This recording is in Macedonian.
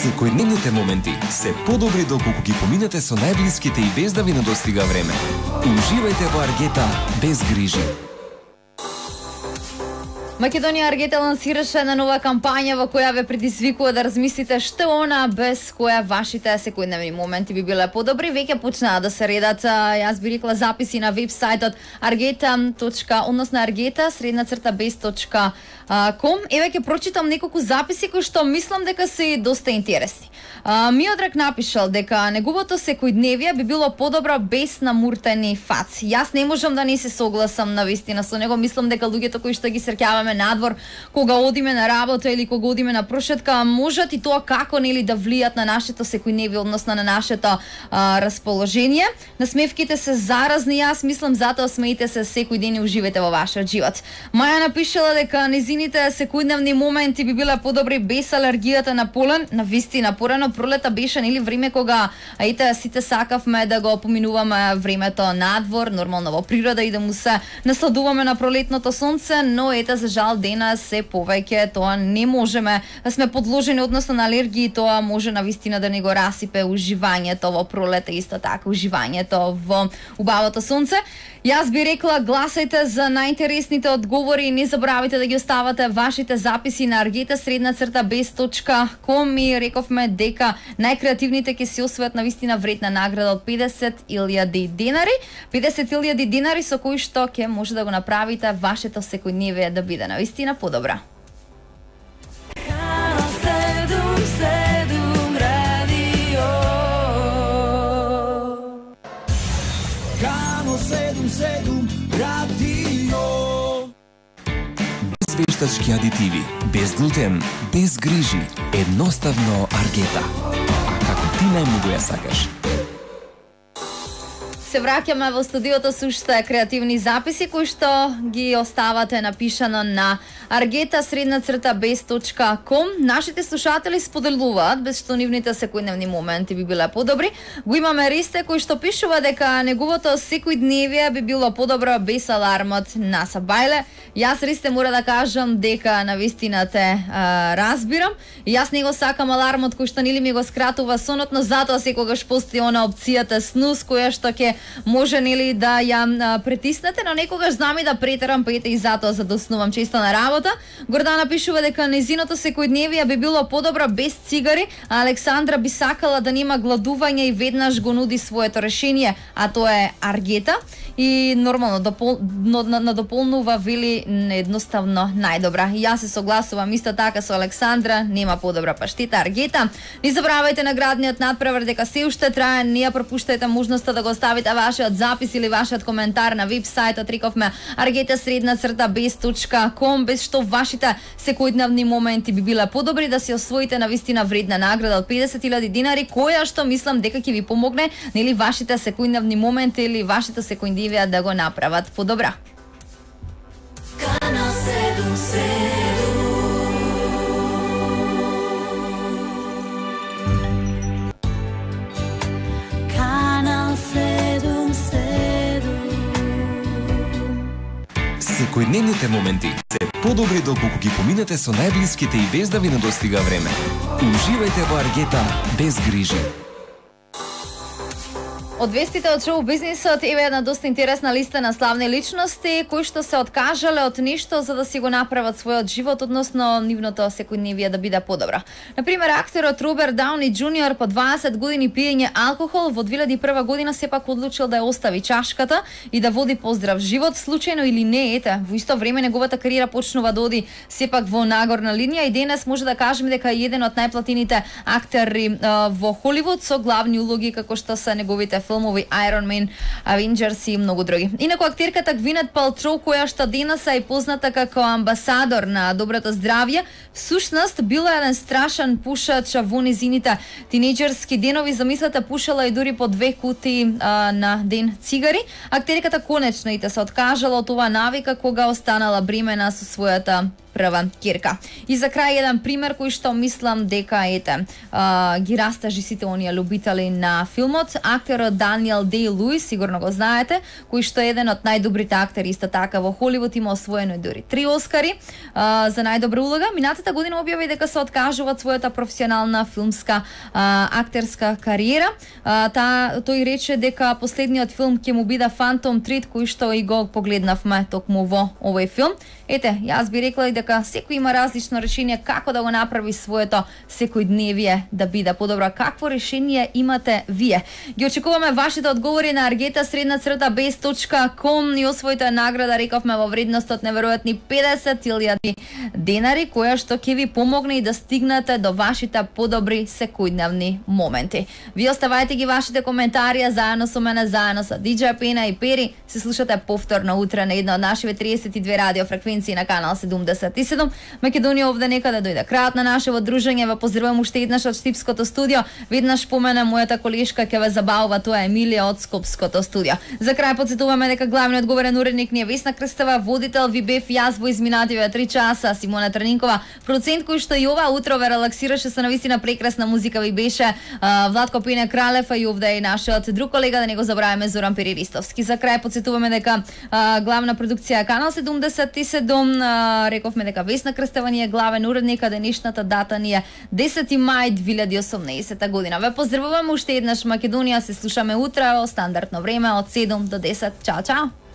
Секојдневните моменти се подобри доколку ги поминете со најблиските и без да ви недостига време. Уживајте во Аргета без грижи. Македонија Аргета лансираше една нова кампања во која ве предизвикува да размислите што она без која вашите секојдневни моменти би биле подобри. Веќе почнаа да се редат, јас би рекла, записи на вебсајтот argeta.bez.com. Еве ќе прочитам неколку записи кои што мислам дека се доста интересни. Миодрак напишал дека неговото секојдневие би било подобро без намуртени фаци. Јас не можам да не се согласам навистина со него. Мислам дека луѓето кои што ги среќаваме надвор, кога одиме на работа или кога одиме на прошетка, можат и тоа како нели да влијат на нашето секојдневие, односно на нашето расположение. Насмевките се заразни, јас мислам, затоа смеите се секој ден и уживајте во вашиот живот. Маја напишала дека незините секојдневни моменти би биле подобри без алергијата на полен. Навистина, порано пролета беше нели време кога сите сакавме да го поминуваме времето надвор, нормално во природа и да му се насладуваме на пролетното сонце, но за жал денес се повеќе тоа не можеме, сме подложени односно на алергии, тоа може навистина да не го расипе уживањето во пролета, исто така уживањето во убавото сонце. Јас би рекла, гласајте за најинтересните одговори и не забравите да ги оставате вашите записи на argeta_bez.com и рековме дека најкреативните ќе се освојат навистина вредна награда од 50.000 денари. 50.000 денари со кои што ќе може да го направите вашето секојдневие да биде навистина подобра. Без вештачки адитиви, без глутен, без грижи, едноставно Аргета. А како ти најмногу ја сакаш? Се враќаме во студиото со уште креативни записи кои што ги оставате напишано на argeta_bez.com. Нашите слушатели споделуваат без што нивните секојдневни моменти би биле подобри. Го имаме Ристе кој што пишува дека неговото секојдневие би било подобро без алармот на Сабајле. Јас, Ристе, мора да кажам дека навистина те разбирам. И јас не го сакам алармот кој што нели ми го скратува сонот, но затоа секогаш постои она опцијата снус која што ќе може нели да ја притиснете, но некогаш знам и да претерам, па ете и затоа за да оснувам често на работа. Гордана пишува дека незиното секојдневие би било подобро без цигари, а Александра би сакала да нема гладување и веднаш го нуди своето решение, а тоа е Аргета. И нормално надополнува, вели, едноставно најдобра. И јас се согласувам исто така со Александра, нема подобра паштета Аргета. Не забравајте наградниот надпревар дека се уште трае, не ја пропуштајте можноста да го оставите вашиот запис или вашиот коментар на вебсајтот, рековме argeta_bez.com, без што вашите секојдневни моменти би биле подобри да се освоите навистина вредна награда од 50.000 денари, која што мислам дека ќе ви помогне нели вашите секојдневни моменти или вашите секојдневија да го направат подобра. Канал 7. Секојдневните моменти се подобри доколку ги поминете со најблиските и без да ви недостига време. Уживајте во Аргета без грижи. Од вестите од шоу бизнисот еве една доста интересна листа на славни личности кои што се откажале од нешто за да си го направат својот живот, односно нивното секојдневие да биде подобро. Например, актерот Роберт Дауни Џуниор по 20 години пиење алкохол во 2001 година сепак одлучил да ја остави чашката и да води поздрав живот, случајно или не, ете, во исто време неговата кариера почнува да оди сепак во нагорна линија и денес може да кажеме дека е еден од најплатените актери во Холивуд со главни улоги како што се неговите филмови Iron Man, Avengers и многу други. Инаку актерката Гвинет Палтроу, која што денес е позната како амбасадор на доброто здравје, всушност била еден страшен пушач во незините тинејџерски денови. Замислете, пушала и дури по 2 кутии на ден цигари. Актерката конечно и се откажала од оваа навика кога останала бремена со својата прва ќерка. И за крај еден пример кој што мислам дека ги растажи сите оние љубители на филмот. Актерот Даниел Дей-Луис, сигурно го знаете, кој што е еден од најдобрите актери исто така во Холивуд, има освоено и дури 3 Оскари за најдобра улога. Минатата година објави дека се откажува од својата професионална филмска актерска кариера. Тој рече дека последниот филм ќе му биде Phantom Thread, кој што и го погледнавме токму во овој филм. Јас би рекла и дека секој има различно решение како да го направи своето секојдневие да биде подобро. Какво решение имате вие? Ги очекуваме вашите одговори на argeta_base.com и освоите награда, рековме, во вредност од неверојатни 50.000 денари, која што ќе ви помогне и да стигнете до вашите подобри секојдневни моменти. Ви оставајте ги вашите коментари заедно со мене, заедно со DJ Пена и Пери. Се слушате повторно утре на една од нашите 32 радиофреквенции на канал 77. Македонија овде некаде дојде крајот на нашето дружење. Ве поздравувам уште еднаш од Штипското студио. Веднаш спомена мојата колешка ќе ве забавува, тоа е Емилија од Скопското студио. За крај потсетуваме дека главниот говорен уредник ни е Весна Крстева, водител ви бев јас во изминативе 3 часа, Симона Трнинкова, продуцент кој што и ова утро ве релаксираше со навистина прекрасна музика ви беше Владко Пене Кралев, и овде и нашиот друг колега, да не го забравяме, Зоран Периристовски. За крај потсетуваме дека главна продукција канал 77, рековме дека Весна Крстева ни е главен уредник, а денешната дата ни е 10 мај 2018 година. Ве поздравувам уште еднаш. Македонија, се слушаме утре во стандардно време од 7 до 10. Чао, чао!